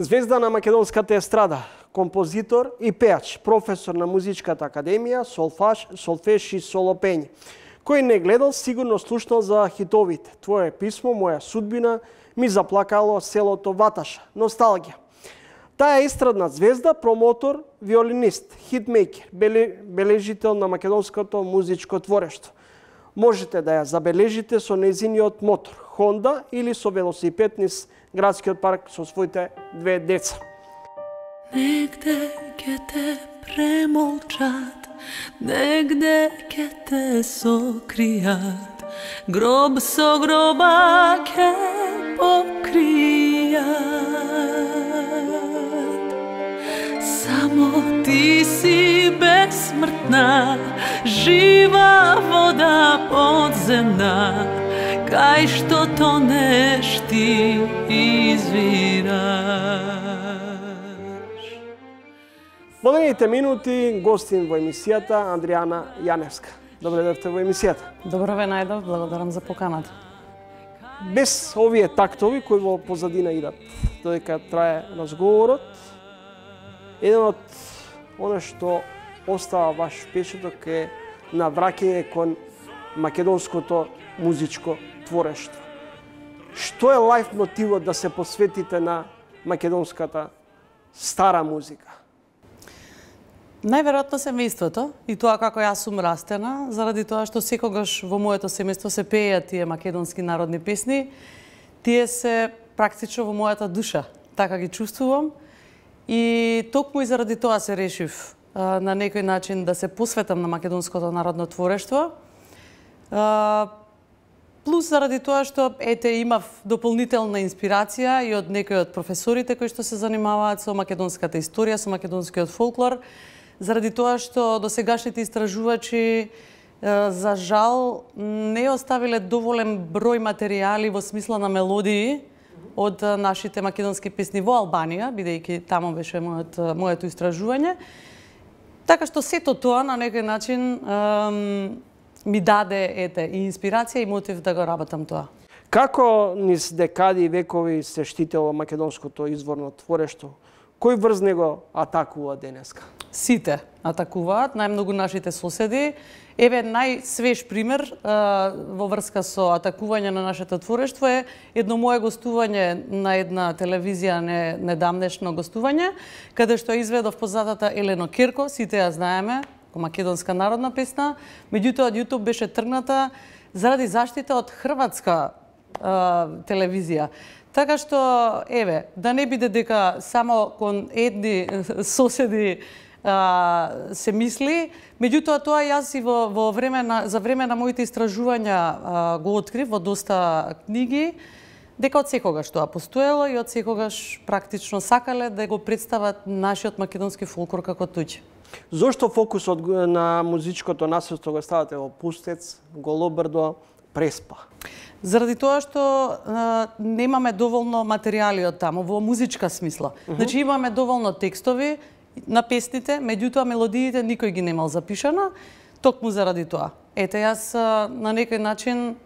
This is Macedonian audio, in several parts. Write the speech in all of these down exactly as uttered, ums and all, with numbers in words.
Звезда на македонската естрада, композитор и пеач, професор на Музичката академија, солфаж, солфеш и солопење. Кој не гледал, сигурно слушнал за хитовите. Твое писмо, моја судбина, ми заплакало селото Ваташа. Носталгија. Таа е естрадна звезда, промотор, виолинист, хитмейкер, бележител на македонското музичко творештво. Можете да ја забележите со нејзиниот мотор, Honda или со велосипед низ градскиот парк со своите две деца. Негде ќе те премолчат, негде ќе те сокријат, гроб со гроба ќе покријат. Само ти си безсмртна, жива вода подземна, кај што тонеш ти извираш. Во наредните минути гостин во емисијата Андријана Јаневска. Добре дојдовте во емисијата. Добро ве најдов, благодарам за поканата. Без овие тактови кои во позадина идат додека трае разговорот, еден од оно што остава ваш впечаток е навраќање кон македонското музичко творештво. Што е лајф мотивот да се посветите на македонската стара музика? Најверојатно семејството и тоа како јас сум растена, заради тоа што секогаш во моето семејство се пееат тие македонски народни песни, тие се практично во мојата душа, така ги чувствувам. И токму и заради тоа се решив а, на некој начин да се посветам на македонското народно творештво. А, плюс заради тоа што ете имав дополнителна инспирација и од некои од професорите кои што се занимаваат со македонската историја, со македонскиот фолклор, заради тоа што досегашните истражувачи за жал не оставиле доволен број материјали во смисла на мелодии од нашите македонски песни во Албанија, бидејќи таму беше моето, моето истражување. Така што сето тоа на некој начин ем, ми даде ете и инспирација и мотив да го работам тоа. Како низ декади и векови се штитело македонското изворно творештво? Кој врз него атакува денеска? Сите атакуваат, најмногу нашите соседи. Еве најсвеж пример а, во врска со атакување на нашето творештво е едно мое гостување на една телевизија, не, недамнешно гостување, каде што изведов позадата Елено Керко, сите ја знаеме, македонска народна песна, меѓутоа од YouTube беше тргната заради заштита од хрватска а, телевизија. Така што, еве, да не биде дека само кон едни соседи а, се мисли, меѓутоа тоа јас и во, во време на, за време на моите истражувања а, го открив во доста книги, дека од секогаш тоа постоело и од секогаш практично сакале да го представат нашиот македонски фолклор како туѓ. Зошто фокусот на музичкото наследство го ставате во Пустец, Голобрдо, Преспа? Заради тоа што а, немаме доволно материјали од таму во музичка смисла. Uh -huh. Значи имаме доволно текстови на песните, меѓутоа мелодиите никој ги немал запишано, токму заради тоа. Ете, јас а, на некој начин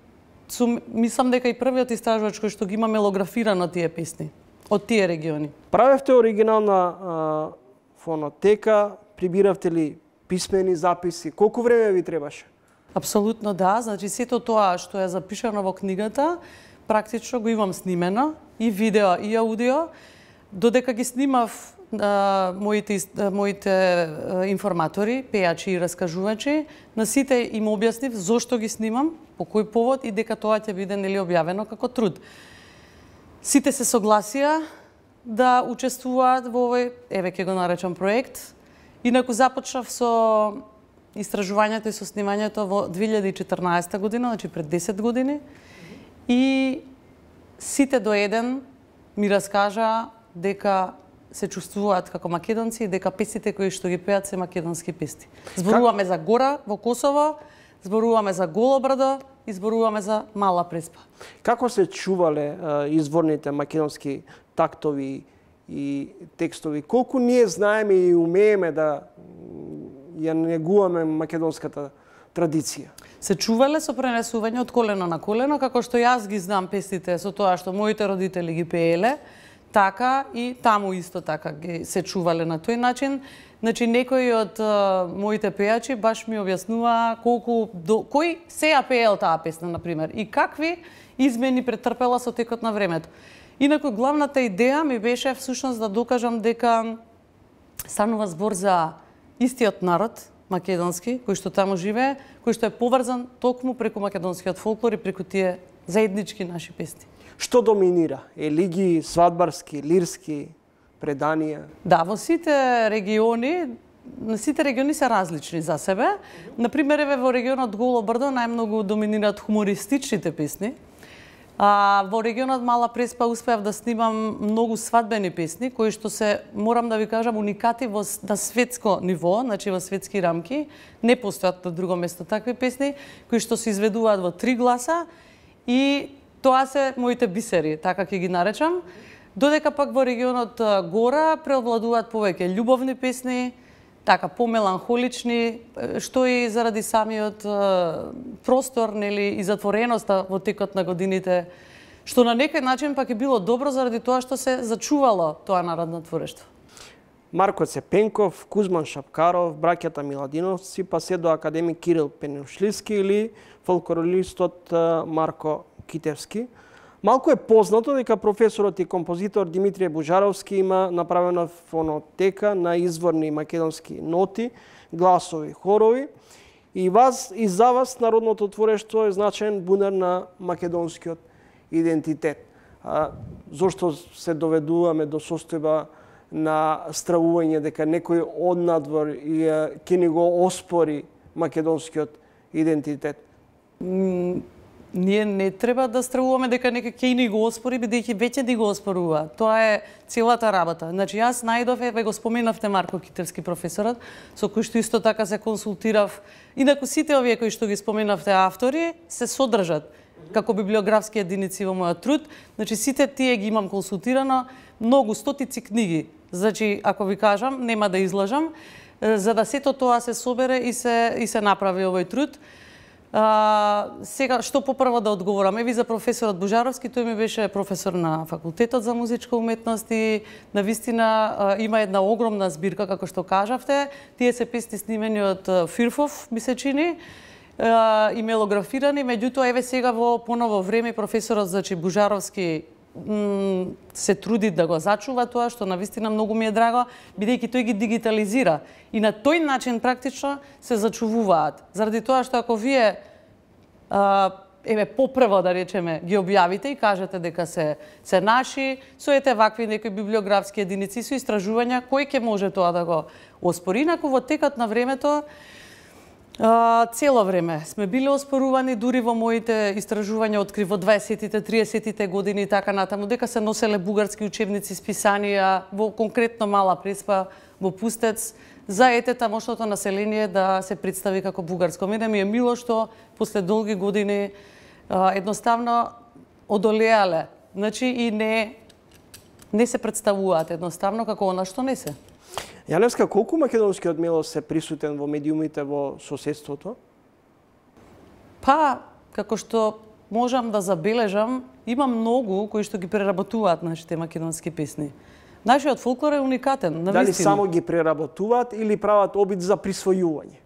сум, мислам дека и првиот истражувач кој што ги има мелографирано тие песни од тие региони. Правевте оригинална а, фонотека, прибиравте ли писмени записи? Колку време ви требаше? Апсолутно да, значи сето тоа што е запишано во книгата, практично го имам снимено, и видео, и аудио, додека ги снимав а, моите, а, моите а, информатори, пеачи и раскажувачи, на сите им објаснив зошто ги снимам, по кој повод и дека тоа ќе биде нели објавено како труд. Сите се согласија да учествуваат во овој, еве ќе го наречам проект, инаку започнав со истражувањето и со снимањето во две илјади и четрнаесета година, значи пред десет години, и сите до еден ми раскажа дека се чувствуваат како македонци и дека песните кои што ги пеат се македонски песни. Зборуваме за Гора во Косово, зборуваме за Голобрдо и зборуваме за Мала Преспа. Како се чувале а, изворните македонски тактови и текстови? Колку ние знаеме и умееме да ја негуваме македонската традиција? Се чувале со пренесување од колено на колено, како што јас ги знам песните со тоа што моите родители ги пееле, така и таму исто така ги се чувале на тој начин. Значи, некои од а, моите пејачи баш ми објаснува колку до кој се ја пеел таа песна, например, и какви измени претрпела со текот на времето. Инаку главната идеја ми беше всушност да докажам дека станува збор за истиот народ македонски, кој што таму живее, кој што е поврзан токму преку македонскиот фолклор и преку тие заеднички наши песни. Што доминира? Елиги, свадбарски, лирски, преданија? Да, во сите региони, сите региони се различни за себе. Например, еве во регионот Голо брдо најмногу доминираат хумористичните песни. А во регионот Мала Преспа успеав да снимам многу свадбени песни, кои што се, морам да ви кажам, уникати во, на светско ниво, значи во светски рамки. Не постојат на друго место такви песни, кои што се изведуваат во три гласа и тоа се моите бисери, така ќе ги наречам. Додека пак во регионот Гора преовладуваат повеќе љубовни песни, така помеланхолични, што и заради самиот простор, нели, и затвореноста во текот на годините, што на некој начин пак е било добро заради тоа што се зачувало тоа народно творештво. Марко Цепенков, Кузман Шапкаров, браќата Миладиновци, па се до академик Кирил Пенушливски или фолклористот Марко Китевски. Малку е познато дека професорот и композитор Димитрije Бужаровски има направена фонотека на изворни македонски ноти, гласови, хорови. И вас и за вас народното творештво е значаен бунар на македонскиот идентитет. А, зошто се доведуваме до состојба на стравување дека некој однадвор и ќе ни го оспори македонскиот идентитет? Ние не треба да стравуваме дека некој ќе ни го оспори, бидејќи веќе ни го оспорува. Тоа е целата работа. Значи, јас најдов, еве го споменавте Марко Китевски, професорот, со кој што исто така се консултирав. Инаку сите овие кои што ги споменавте автори се содржат како библиографски единици во мојот труд. Значи, сите тие ги имам консултирано, многу стотици книги. Значи, ако ви кажам, нема да излажам, за да сето тоа се собере и се и се направи овој труд. А, сега, што попрво да одговорам? Еви за професорот Бужаровски, тој ми беше професор на факултетот за музичка уметност и навистина а, има една огромна збирка, како што кажавте. Тие се песни снимени од Фирфов, ми се чини, а, и мелографирани. Меѓутоа, еве сега во поново време професорот, значи Бужаровски, се труди да го зачува тоа, што навистина многу ми е драго, бидејќи тој ги дигитализира. И на тој начин практично се зачувуваат. Заради тоа што ако вие а, еве попрво да речеме ги објавите и кажете дека се се наши, со ете вакви некои библиографски единици, со истражувања, кој ќе може тоа да го оспори? Инаку во текот на времето Uh, цело време сме биле оспорувани, дури во моите истражувања откри во дваесеттите, триесеттите години и така натаму, дека се носеле бугарски учебници, списанија, во конкретно Мала Преспа, во Пустец, за ете тамошното население да се представи како бугарско. Мене ми е мило што после долги години uh, едноставно одолеале, значи и не, не се представуваат едноставно како она што не се. Јаневска, колку македонскиот мелос е присутен во медиумите во соседството? Па, како што можам да забележам, има многу кои што ги преработуваат нашите македонски песни. Нашиот фолклор е уникатен, навистина. Дали само ги преработуваат или прават обид за присвојување?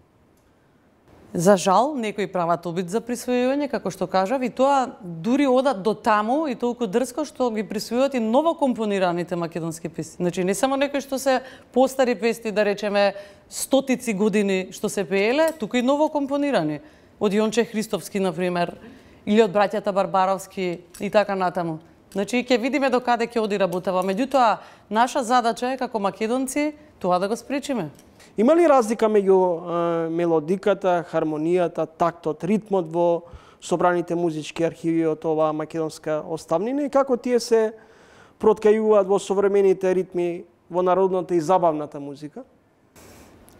За жал, некои прават обид за присвојување, како што кажав, и тоа дури одат до таму и толку дрско што ги присвојуваат и новокомпонираните македонски песни. Значи, не само некои што се постари песни, да речеме, стотици години што се пееле, туку и новокомпонирани. Од Јонче Христовски, например, или од браќата Барбаровски и така натаму. Значи, ќе видиме до каде ќе оди работава. Меѓутоа, наша задача е како македонци тоа да го спречиме. Има ли разлика меѓу е, мелодиката, хармонијата, тактот, ритмот во собраните музички архиви од оваа македонска оставнина и како тие се проткајуваат во современите ритми во народната и забавната музика?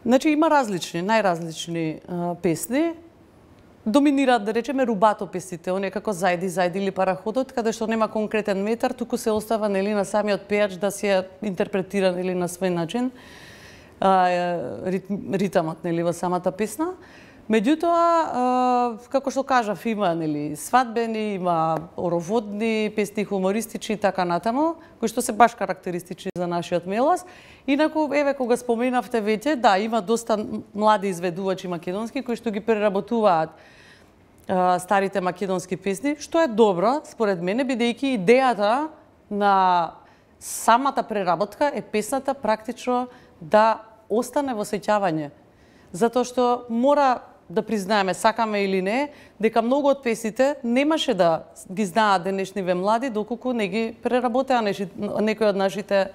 Значи, има различни, најразлични а, песни. Доминираат, да речеме, рубато песните, оние како Зајди, Зајди или Параходот, каде што нема конкретен метар, туку се остава нели на самиот пејач да се интерпретира нели на свој начин. Ритмот нели во самата песна. Меѓутоа, како што кажав, има нели свадбени, има ороводни песни, хумористични и така натаму, кои што се баш карактеристични за нашиот Мелас. Инаку, еве, кога споменавте веќе, да, има доста млади изведувачи македонски кои што ги преработуваат а, старите македонски песни, што е добро, според мене, бидејќи идејата на самата преработка е песната практично да остане во сеќавање. Затоа што мора да признаеме, сакаме или не, дека многу од песните немаше да ги знаат денешниве млади, доколку не ги преработеа некои од нашите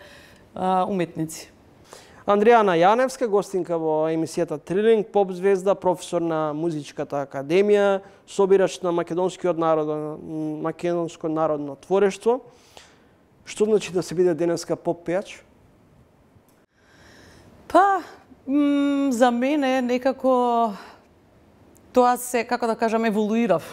а, уметници. Андријана Јаневска, гостинка во емисијата Трилинг, поп звезда, професор на Музичката академија, собирач на македонскиот народ, македонско народно творештво. Што значи да се биде денеска поп пејач? Па, м, за мене некако тоа се, како да кажам, еволуирав.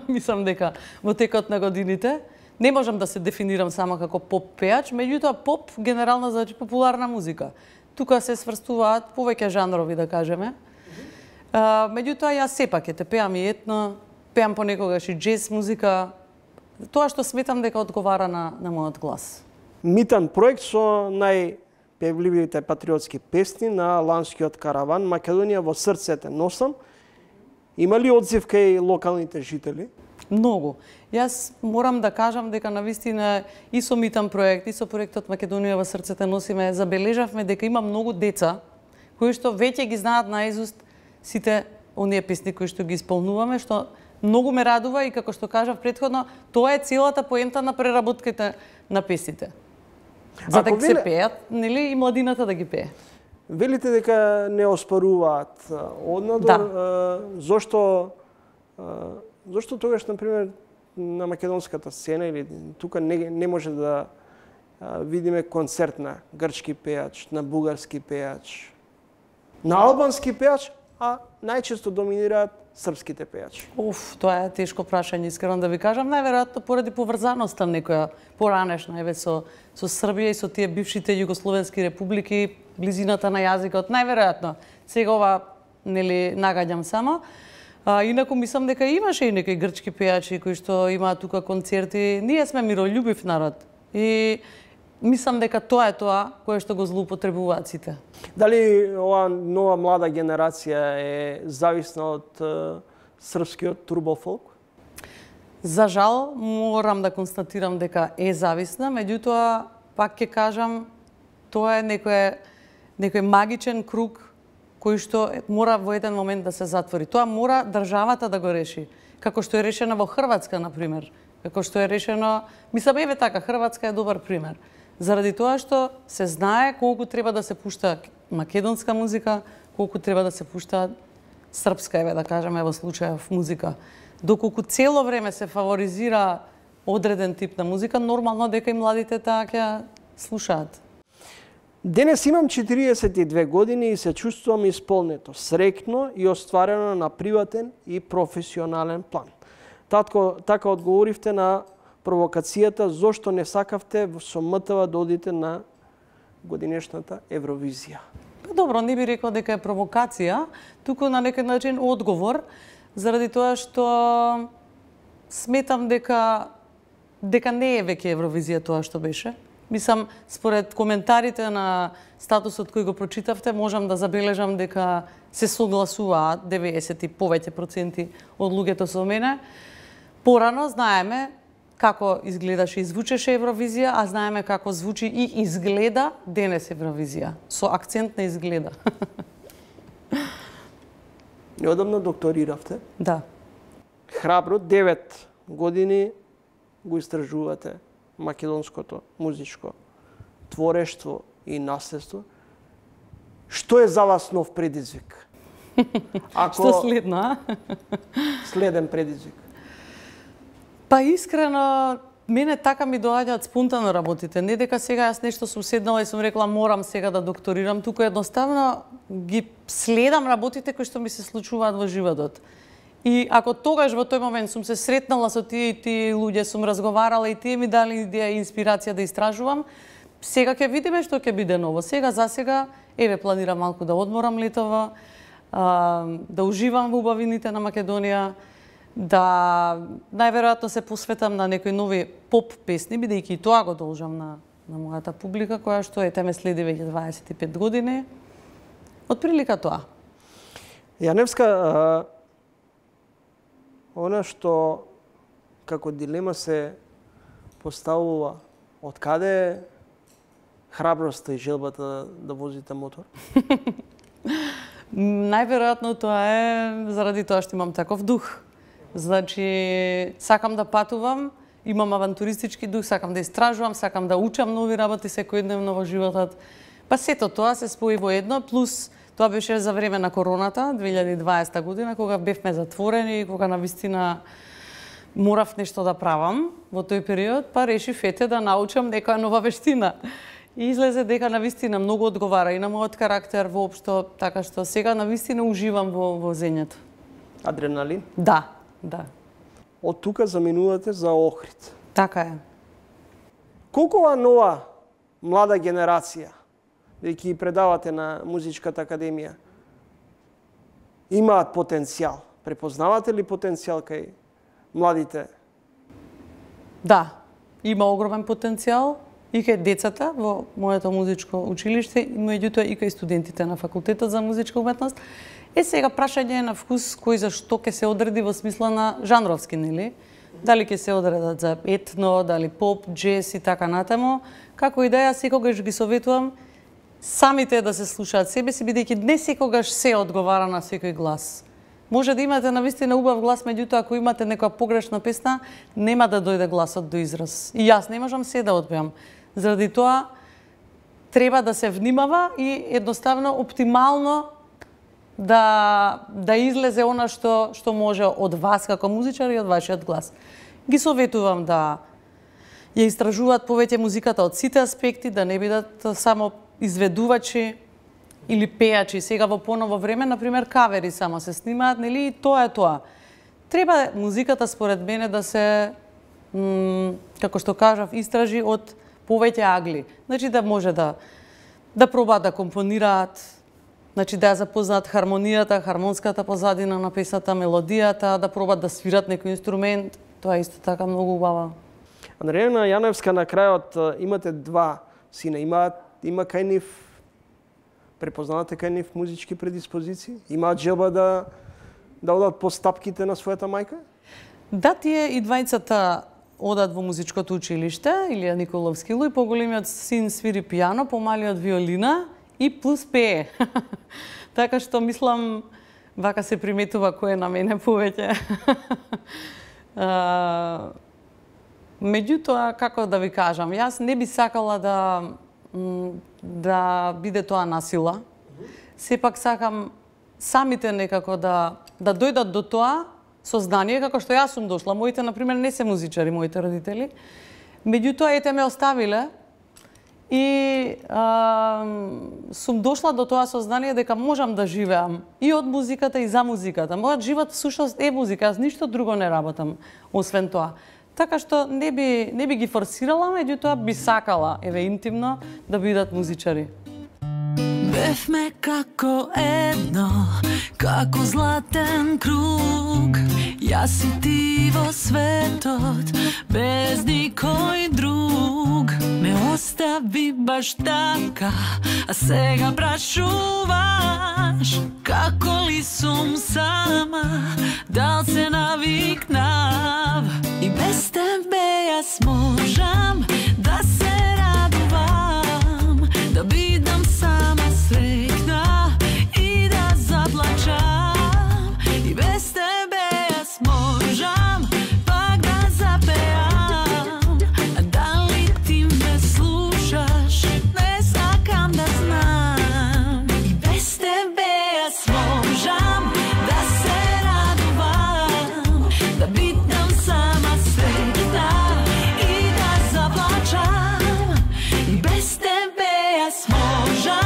Мислам дека во текот на годините не можам да се дефинирам само како поп пејач, меѓутоа поп генерално значи популарна музика. Тука се сврстуваат повеќе жанрови, да кажеме. Uh, меѓутоа јас сепак ете пеам и етно, пеам понекогаш и джез музика. Тоа што сметам дека одговара на, на мојот глас. Митан проект со најпевливите патриотски песни на ланскиот караван Македонија во срцете носам. Има ли одзив кај локалните жители? Многу. Јас морам да кажам дека навистина и со Митан проект, и со проектот Македонија во срцете носиме, забележавме дека има многу деца кои што веќе ги знаат наизуст сите оние песни кои што ги исполнуваме, што многу ме радува и како што кажав претходно, тоа е целата поента на преработката на песните. За да се пеат, нели, и младината да ги пее. Велите дека не оспоруваат однадор, да. Зошто зошто тогаш на пример на македонската сцена или тука не, не може да видиме концерт на грчки пејач, на бугарски пејач, на албански пејач, а најчесто доминираат српските пејачи? Уф, тоа е тешко прашање, искрено да ви кажам, најверојатно поради поврзаноста некоја поранешна еве со со Србија и со тие бившите југословенски републики, близината на јазикот, најверојатно. Сега ова нели нагаѓам само. А, инаку мислам дека имаше и некои грчки пејачи кои што имаат тука концерти. Ние сме мирољубив народ и мислам дека тоа е тоа кое што го злоупотребуваат сите. Дали ова нова млада генерација е зависна од е, српскиот турбофолк? За жал, морам да констатирам дека е зависна, меѓутоа, пак ќе кажам, тоа е некој, некој магичен круг кој што мора во еден момент да се затвори. Тоа мора државата да го реши. Како што е решено во Хрватска, например. Како што е решено... Мислам, еве така, Хрватска е добар пример. Заради тоа што се знае колку треба да се пушта македонска музика, колку треба да се пушта српска, еве да кажеме во случајов музика. Доколку цело време се фаворизира одреден тип на музика, нормално дека и младите таа ќе слушаат. Денес имам четириесет и две години и се чувствувам исполнето, среќно и остварено на приватен и професионален план. Татко, така одговоривте на провокацијата зошто не сакавте со МТВ да одите на годинешната Евровизија. Добро, не би рекла дека е провокација, туку на некој начин одговор, заради тоа што сметам дека дека не е веќе Евровизија тоа што беше. Мислам, според коментарите на статусот кој го прочитавте, можам да забележам дека се согласуваат деветдесет и повеќе проценти од луѓето со мене. Порано знаеме како изгледаше и звучеше Евровизија, а знаеме како звучи и изгледа денес Евровизија, со акцент на изгледа. Неодамна докториравте. Да. Храбро, девет години го истражувате македонското музичко творештво и наследство. Што е за вас нов предизвик? Ако... Што следно, а? Следен предизвик. Па искрено, мене така ми доаѓаат спонтано работите. Не дека сега јас нешто сум седнала и сум рекла морам сега да докторирам, туку едноставно ги следам работите кои што ми се случуваат во животот. И ако тогаш во тој момент сум се сретнала со тие и тие луѓе, сум разговарала и тие ми дали идеја и инспирација да истражувам, сега ќе видиме што ќе биде ново. Сега за сега еве планирам малку да одморам летово. да уживам во убавините на Македонија, да најверојатно се посветам на некои нови поп песни, бидејќи и тоа го должам на, на мојата публика, која што ете ме следи веќе дваесет и пет години. Од прилика тоа. Јаневска, а, она што како дилема се поставува, од каде е храброста и желбата да возите мотор? Најверојатно тоа е заради тоа што имам таков дух. Значи, сакам да патувам, имам авантуристички дух, сакам да истражувам, сакам да учам нови работи секојдневно во животот. Па сето тоа се спои во едно, плюс тоа беше за време на короната, две илјади и дваесета година, кога бевме затворени и кога навистина морав нешто да правам во тој период, па решив ете да научам некоја нова вештина. И излезе дека навистина многу одговара и на мојот карактер воопшто, така што сега навистина уживам во возењето. Адреналин? Да, да. Од тука заминувате за Охрид. Така е. Колку ова нова млада генерација, дека ги предавате на Музичката академија, имаат потенцијал? Препознавате ли потенцијал кај младите? Да, има огромен потенцијал и кај децата во моето музичко училиште, и меѓутоа и кај студентите на факултетот за музичка уметност. Е сега прашање на вкус кој за што ќе се одреди во смисла на жанровски, нели? Дали ќе се одредат за етно, дали поп, джез и така натаму. Како идеја секогаш ги советувам самите да се слушаат себе си, бидејќи не секогаш се одговара на секој глас. Може да имате навистина убав глас, меѓутоа ако имате некоја погрешна песна, нема да дојде гласот до израз. И јас не можам се да одпеам. Заради тоа треба да се внимава и едноставно оптимално да да излезе она што што може од вас како музичар и од вашиот глас. Ги советувам да ја истражуваат повеќе музиката од сите аспекти, да не бидат само изведувачи или пејачи. Сега во поново време, например, кавери само се снимаат, нели, и тоа е тоа. Треба музиката според мене да се како што кажав, истражи од повеќе агли. Значи да може да да пробаат да компонираат, значи да ја запознаат хармонијата, хармонската позадина на песната, мелодијата, да пробаат да свират некој инструмент. Тоа е исто така многу убава. Андрејана Јаневска, на крајот имате два сина. Има има кај нив препознавате кај нив музички предиспозиции? Имаат желба да да одат по стапките на својата мајка? Да, тие и двајцата одат во музичкото училиште, Илија Николовски Луј, поголемиот син свири пијано, помалиот виолина и плюс пее. Така што мислам, вака се приметува кој е на мене повеќе. Меѓутоа, како да ви кажам, јас не би сакала да да биде тоа насила. Сепак сакам самите некако да да дојдат до тоа сознание, како што јас сум дошла. Моите, например, не се музичари, моите родители. Меѓутоа, ете ме оставиле и а, сум дошла до тоа сознание дека можам да живеам и од музиката и за музиката. Мојот живот всушност е музика, аз ништо друго не работам освен тоа. Така што не би не би ги форсирала, меѓутоа би сакала, еве интимно, да бидат музичари. Бевме како едно, како златен круг, јас и ти во светот, без никој друг. Ме остави баш така, а сега прашуваш, како ли сум сама, дал се навикнав. И без тебе јас можам да се радувам, да бидам сама среќна и да заплачам. И без тебе јас можам пак да запеам. А дали ти ме слушаш, не сакам да знам. И без тебе јас можам да се радувам, да бидам сама среќна и да заплачам. И без тебе јас можам